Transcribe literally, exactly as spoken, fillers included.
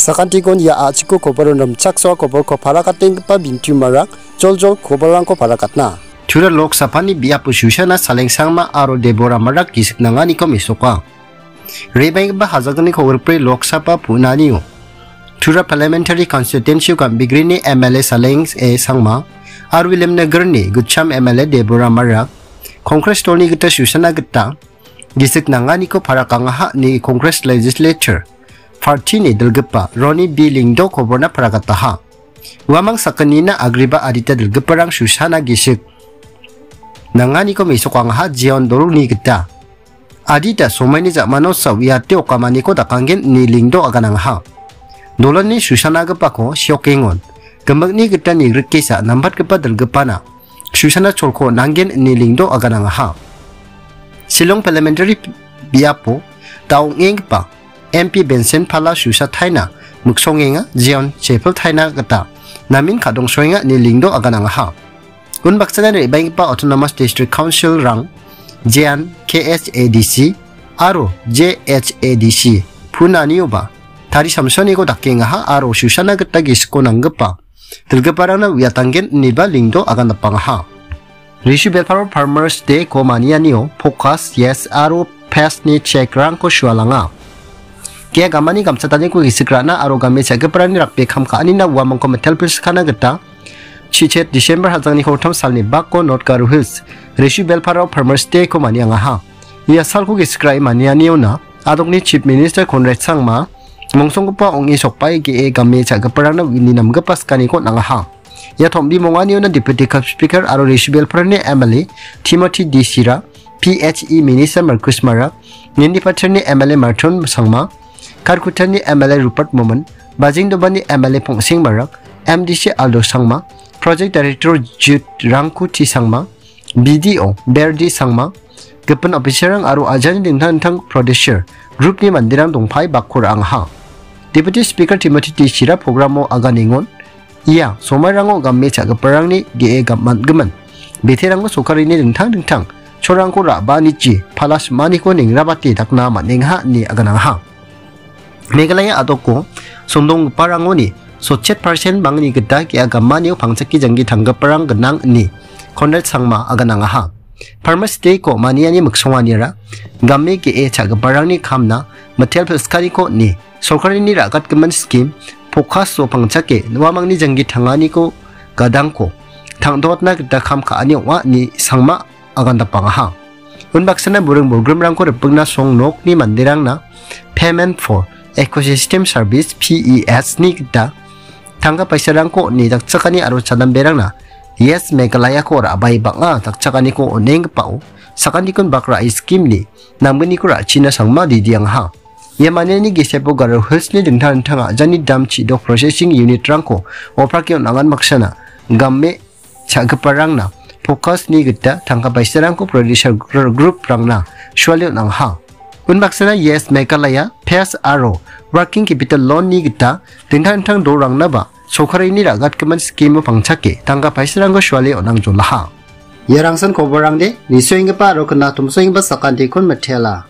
Sakantikon ia a·chiko koboron rimchaksoa koborko parakatenggipa bintiumarang joljol koborrangko parakatna. Tura Lok Saphani biapo Susana Saleng Sangma aro Deborah Marak gisik nanganiko mesoka. Re·baenggipa hajalgni kogrikbri Lok Sabha punanio Tura Parliamentary Constituency-o gambigrini M L A Saleng A Sangma aro Williamnagarni gitcham M L A Deborah Marak Congress dolni gita Susana gita gisik nanganiko parakangaha ine Congress Legislature Party-ni dilgipa Ronnie B Lyngdoh koborna parakataha. Uamang sakgnina agreba adita dilgiparang Susana gisik nanganiko mesokangaha jeon dolni gita. Adita somaini ja·mano sa uiate okamaniko dakanggen ine Lyngdoh aganangaha. Dolani Susanagipako siokengon gimikni gita nigrikesa nambatgipa dilgipana Susana cholko nanggen ine Lyngdoh aganangaha. Shillong Parliamentary biapo da ong·enggipa M P Benson Pala Susa Taina miksongenga, jeon Chapel Taina gita namen kadongsoenga ine Lyngdoh aganangaha. Unbaksana re·baenggipa Autonomous District Council-rang jeon K H A D C aro J H A D C punanioba tari samsoniko dakengaha aro Susana gita gisiko nanggipa dilgiparangna uiatanggen ineba Lyngdoh agandapangaha. Rishu Belparo Farmers Day-ko manianio Focus, Yes aro Pass-ni check-rangko sualanga. Ge·a gamani gamchataniko gisik ra·na aro game cha·giparangni rakbe kam ka·anina uamangko mitel pilsikana gita chichet December hajalni kolgittam salni bako North Garo Hills Rishu Belparo Farmers Day-ko maniangaha. Ia salko gisik ra·e manianiona adokni Chief Minister Conrad Sangma mongsonggipa ong·e sokbae ge·e game cha·giparangna uni namgipa sikaniko on·angaha. Ia tombi monganiona Deputy Cup Speaker aro Rishu Belparani M L A Timothy D Sira, P H E Minister Marcus Marak, Ninipatirni M L A Martin Sangma, Kharkutani M L A Rupert Momin, Bajengdobani M L A Pongsing Marak, M D C Aldo Sangma, Project Director Jude Rangkuti Sangma, B D O Berdi Sangma, gipin officer-rang aro ajani dingtang dingtang prodisher group-ni manderang dongpae bakko ra·angaha. Deputy Speaker Timothy T Sira program-o aganengon, ia somairango game cha·giparangni ge·e gam-, man·gimin biterangko sorkarini dingtang dingtang cholrangko ra·baanichi pala sim·aniko nengrabate dakna man·engaha ine aganangaha. Meghalaya adoko sondonggiparangoni sotchet percent bangni gita ge·a gamanio pangchake janggi tanggiparang gnang ine Conrad Sangma aganangaha. Farmers Day-ko maniani miksonganiara game ge·e cha·giparangni kamna mitel pilskaniko ine sorkarini ra·gatgimin skim Focus-o pangchake uamangni janggi tanganiko gadangko tangdokatna gita kam ka·ani ong·a ine Sangma agandapangaha. Unbaksana buring bolgrimrangko ripengna song nokni manderangna Payment for Ecosystem Service, P E S, ni gita tangka paisarangko on·e dakchakani aro chadamberangna Yes Meghalaya-ko ra·bae bang·a dakchakaniko on·enggipao sakantikon bak ra·e skim-ni namgniko ra·china Sangma didiangaha. Ia maniani gisepo Garo Hills-ni dingtang dingtang a·jani dam chi·dok processing unit-rangko oprake on·angan baksana game cha·giparangna Focus-ni gita tangka paisarangko producer gr-, group-rangna suale on·angaha. Unbaksana Yes Meghalaya Pass aro Working Capital Loan-ni gita dingtang dingtang dolrangnaba sorkarini ra·gatgimin skim-o pangchake tangka paisarangko suale on·angjolaha. Ia rangsan koborrangde nisoenggipa aro knatomsoenggipa sakantikon mitela.